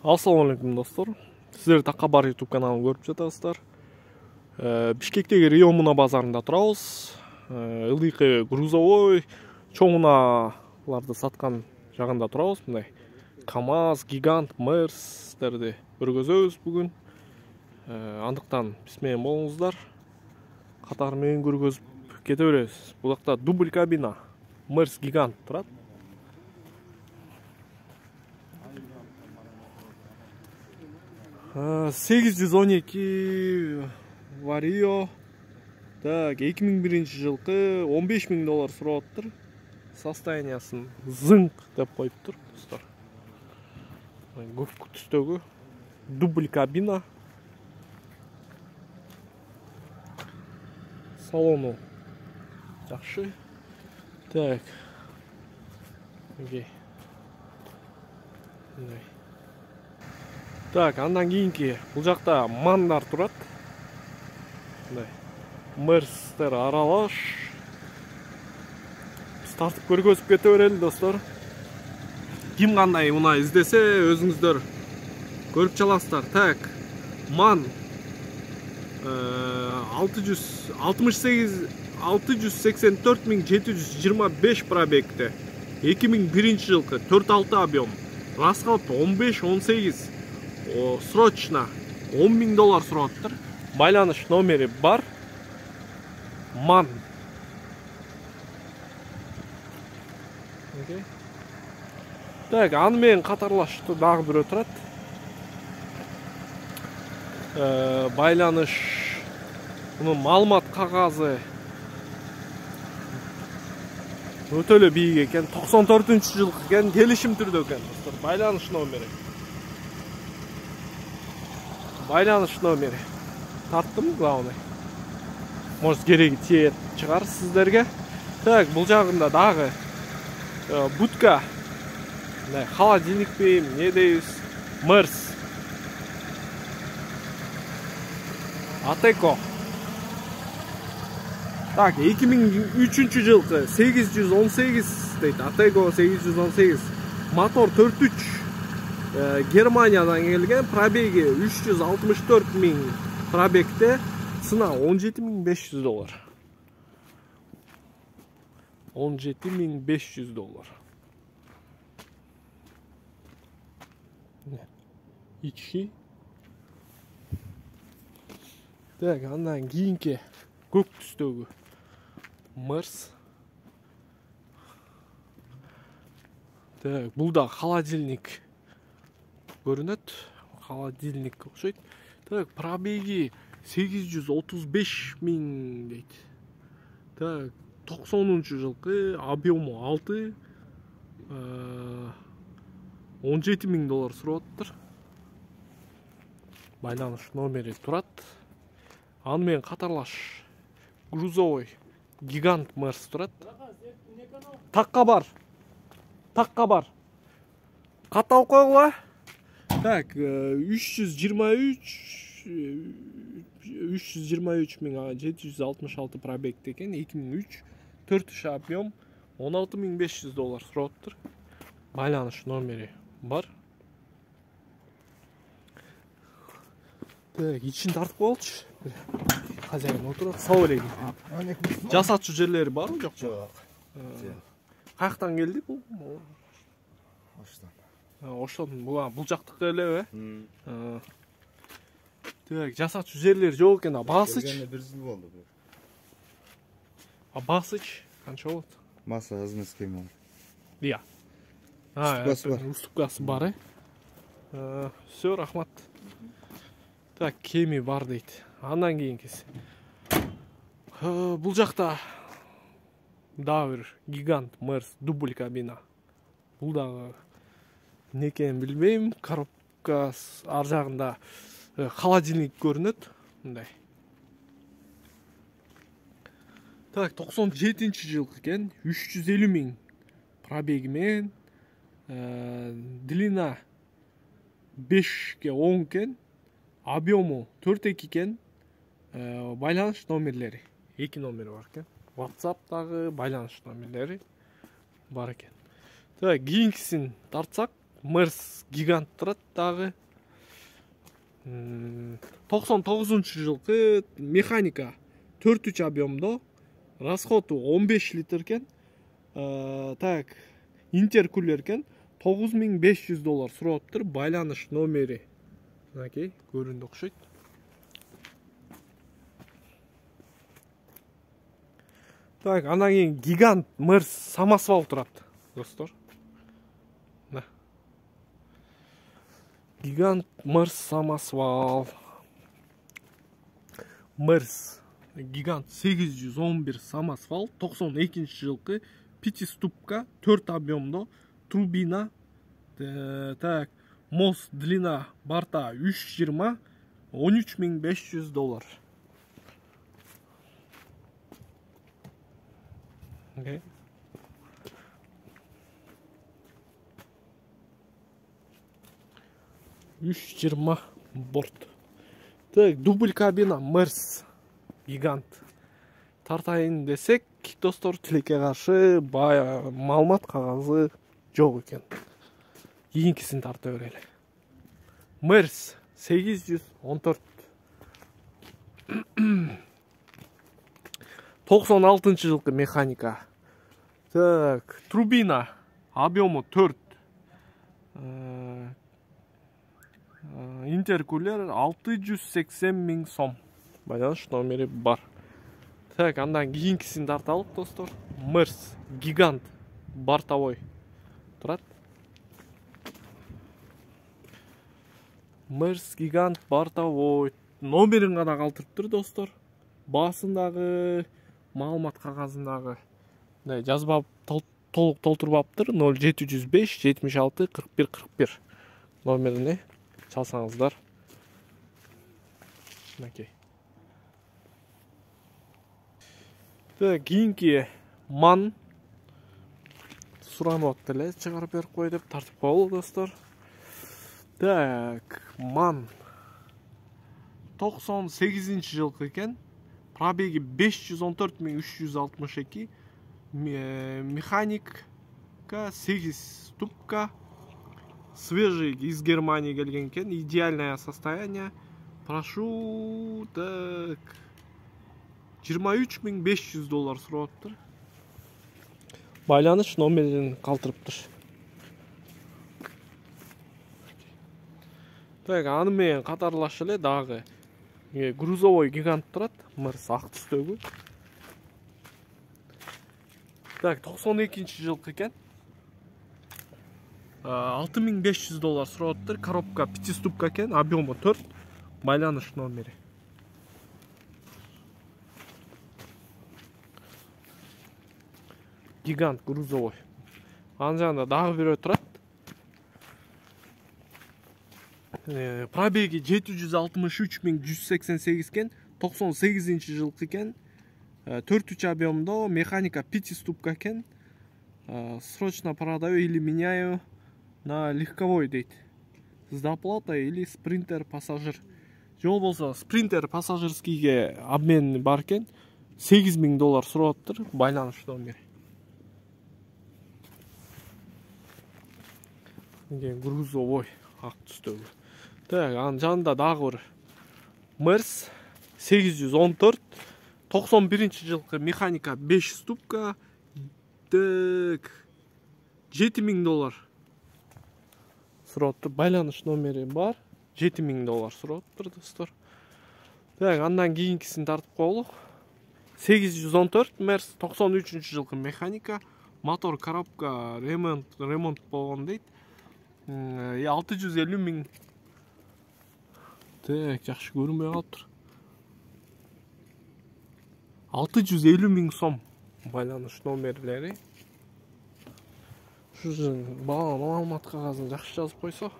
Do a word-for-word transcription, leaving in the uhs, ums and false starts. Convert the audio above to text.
Ассаламу алейкум достор. Сиздер Такка бар YouTube каналын көрүп жатасыздар. Бишкектеги Рио Муна базарында турабыз. Ылдыйкы грузовой чоң унааларды саткан жагында турабыз. Мындай КамАЗ, Гигант, Мерстерди көргөзөбүз бүгүн. Андыктан биз менен болуңуздар. Катар менен көргөзүп кете беребиз. Бул жакта дубль кабина Мерс Гигант турат. сегиз жүз он эки Vario. Так, эки миң биринчи жылкы он беш миң доллар сурап атыптыр. Состояниясын зыңк деп коюптур достор. Көк түстөгү дубль кабина. Салону жакшы. Так. Окей. Так, андан кийинки бул жакта мандар турат. Мындай Мерстер аралаш. Биз тартып көргөзүп кете берели достор. Ким кандай унаа издесе өзүңүздөр көрүп чаласыздар. Так, ман алты жүз сексен төрт миң жети жүз жыйырма беш пробегте. эки миң биринчи жылкы төрт алты объем. Расход он беш он сегиз. Срочно он миң доллар сурап атыптыр. Байланыш номери бар. Ман. Окей. Так, аны менен катарлаштуу дагы бирөө турат. Э, байланыш мунун маалымат кагазы өтө эле бийик экен. токсон төртүнчү жылкы экен, келишим түрдө экен достор. Байланыш номери. Байланыш номери. Тарттым главный. Может, кереги тиет чыгар сиздерге. Так, бул жагында дагы будка. Мындай холодильник бейм, не дейбиз? Мерс. Атеко. Так, эки миң үчүнчү жылкы сегиз жүз он сегиз дейт. Атеко сегиз жүз он сегиз. Мотор төрт үч. Германиядан келген, пробеги үч жүз алтымыш төрт миң пробегте, цена он жети миң беш жүз доллар. он жети миң беш жүз доллар. Ички. Так, андан кийинки көк түстөгү Мерс. Так, бул да холодильник көрүнөт. Холодильник окшойт. Так, пробеги сегиз жүз отуз беш миң дейт. Так, токсонунчу жылкы объему алты, он жети миң доллар сурап атыптыр. Байланыш номери турат. Аны менен катарлаш грузовой Гигант Мерс турат. Такка бар. Такка бар. Каталып койгула. Так, үч жүз жыйырма үч миң жети жүз алтымыш алты пробегте экен, эки миң үч, төрт үч объем, он алты миң беш жүз доллар сурап атыптыр. Байланыш номери бар. Так, ичин тартып коелучу. Хозяин отурат. Салам алейкум. Жасатчу жерлери барбы, жок? Жок. Каяктан келди бул? Оштон. Оштон, бул жактыкы элеби? Так, жасатчу жерлери жок экен, а басыч? Келгенде бир жыл болду. А басыч канча болот? Масса азмес кем. Ия. Уступкасы бар, э? Всё, рахмат. Так, кеми бар дейт. Андан кийинкиси. Бул жакта дагы бир Гигант Мерс дубль кабина. Бул дагы эмне экенин билбейм. Коробка ар жагында холодильник көрүнөт. Мындай. Так, токсон жетинчи жылкы экен, үч жүз элүү миң пробеги менен, длина бешке он экен, объему төрт эки экен. Байланыш номерлери эки номери бар экен. WhatsApp'тагы байланыш номерлери бар экен. Так, кийинкисин тартсак, Мерс гигант турат дагы. токсон тогузунчу жылкы механика төрт объемдо, расходу он беш литр экен. Так, интеркулер экен, тогуз миң беш жүз доллар сурап байланыш номери. Мынакей, көрүндү окшойт. Так, андан кийин гигант Мерс самосвал турат, достор. Гигант Мерс самосвал. Мерс гигант сегиз жүз он бир самосвал, токсон экинчи жылкы пятиступка, төрт объемдо, турбина. Так, мост длина борта үч жүз жыйырма, он үч миң беш жүз доллар. Okay. үч жүз жыйырма борт. Так, дубль кабина Мерс гигант. Тартайын десек, достор, тилекке каршы бая маалымат кагазы жок экен. Кийинкисин тарта берели. Мерс сегиз жүз он төрт. токсон алтынчы жылкы механика. Так, турбина объему төрт. Интеркулер алты жүз сексен миң сом. Байланыш номери бар. Так, андан кийинкисин тарталык, достор. Мерс гигант бортовой турат. Мерс гигант бортовой номерин гана калтырыптыр, достор. Баасындагы, маалымат кагазындагы жазба толук толтурбаптыр. ноль жети жүз беш жетимиш алты кырк бир кырк бир номерине чалсаңыздар. Мынакей. Так, кийинки ман суранып атты эле, чыгарып берип кой деп тартып коелу, достор. Так, ман токсон сегизинчи жылкы экен. Пробеги беш жүз он төрт миң үч жүз алтымыш эки. Механика сегиз ступка. Свежий из Германии келген экен. Идеальное состояние. Прошу, так, жыйырма үч миң беш жүз доллар сурап. Байланыш номерин калтырыптыр. Так, аны менен катарлаш эле дагы грузовой гигант турат. Мерс ак түстөгү. Так, токсон экинчи жылкы экен. алты миң беш жүз доллар сурап. Коробка пятиступка экен, объему төрт. Байланыш номери. Гигант грузовой. Анын жанында дагы бирөө турат. Пробеги жети жүз алтымыш үч миң жүз сексен сегиз экен. токсон сегизинчи жылкы экен. төрт объемдо, механика пятиступка экен. Срочно продаю или меняю на легковой дейт. С доплатой или спринтер пассажир. Жол болсо спринтер пассажирскийге обмен бар экен. сегиз миң доллар сураптыр. Байланыш номери. Грузовой ак түстөгү. Так, анын жанында дагы бир Мерс сегиз жүз он төрт, токсон биринчи жылкы механика беш ступка. Так, жети миң доллар сураптыр. Байланыш номери бар. жети миң доллар сураптыр, достор. Так, андан кийинкисин тартып коелу. сегиз жүз он төрт Мерс токсон үчүнчү жылкы механика. Мотор, коробка ремонт ремонт болгон дейт. алты жүз элүү миң. Так, жакшы көрүнбөй калыптыр. алты жүз элүү миң сом байланыш номерлери. Ушу маалымат кагазын жакшы жазып койсо.